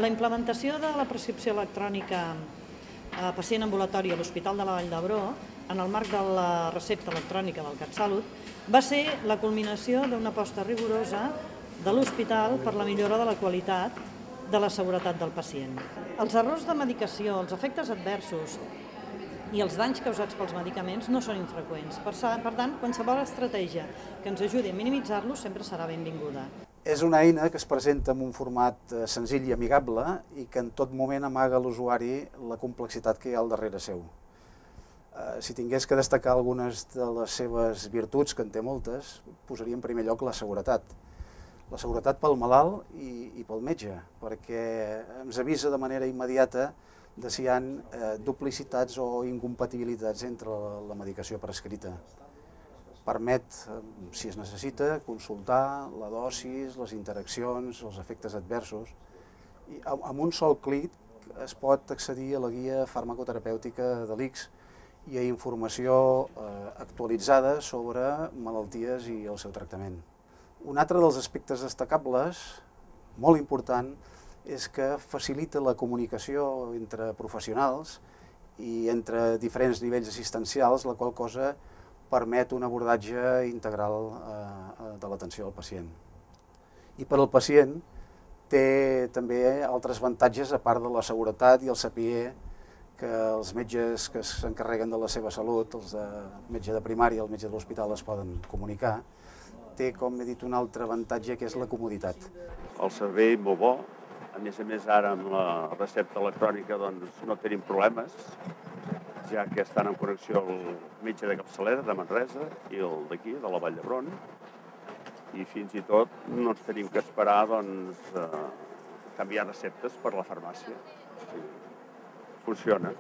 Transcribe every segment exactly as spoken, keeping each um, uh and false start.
La implementació de la prescripció electrònica a pacient ambulatori a l'Hospital de la Vall d'Hebron, en el marc de la recepta electrònica del CatSalut, va ser la culminació d'una aposta rigorosa de l'hospital per la millora de la qualitat de la seguretat del pacient. Els errors de medicació, els efectes adversos i els danys causats pels medicaments no són infreqüents. Per tant, qualsevol estratègia que ens ajudi a minimitzar-los sempre serà benvinguda. És una eina que es presenta en un format senzill i amigable i que en tot moment amaga a l'usuari la complexitat que hi ha al darrere seu. Si tingués que destacar algunes de les seves virtuts, que en té moltes, posaria en primer lloc la seguretat. La seguretat pel malalt i, i pel metge, perquè ens avisa de manera immediata de si hi ha eh, duplicitats o incompatibilitats entre la, la medicació prescrita. Permet, si es necessita, consultar la dosis, les interaccions, els efectes adversos. I amb un sol clic es pot accedir a la guia farmacoterapèutica de l'I C S i a informació eh, actualitzada sobre malalties i el seu tractament. Un altre dels aspectes destacables, molt important, és que facilita la comunicació entre professionals i entre diferents nivells assistencials, la qual cosa permet un abordatge integral de l'atenció al pacient. I per al pacient té també altres avantatges, a part de la seguretat i el saber que els metges que s'encarreguen de la seva salut, els de metge de primària i el metge de l'hospital es poden comunicar, té, com he dit, un altre avantatge que és la comoditat. El servei molt bo, a més a més ara amb la recepta electrònica doncs no tenim problemes, ja que estan en connexió el metge de capçalera de Manresa i el d'aquí, de la Vall d'Hebron, i fins i tot no ens tenim que esperar doncs, eh, canviar receptes per la farmàcia. Sí. Funciona.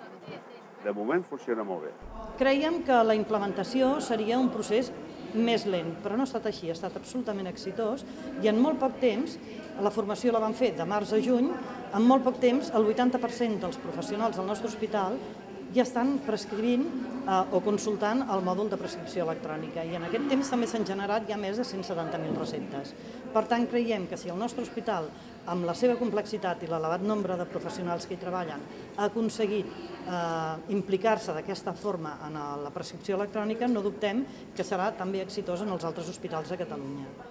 De moment funciona molt bé. Creiem que la implementació seria un procés més lent, però no ha estat així, ha estat absolutament exitós i en molt poc temps, la formació la vam fer de març a juny, en molt poc temps el vuitanta per cent dels professionals del nostre hospital ja estan prescrivint eh, o consultant el mòdul de prescripció electrònica i en aquest temps també s'han generat ja més de cent setanta mil receptes. Per tant, creiem que si el nostre hospital, amb la seva complexitat i l'elevat nombre de professionals que hi treballen, ha aconseguit eh, implicar-se d'aquesta forma en la prescripció electrònica, no dubtem que serà també exitós en els altres hospitals de Catalunya.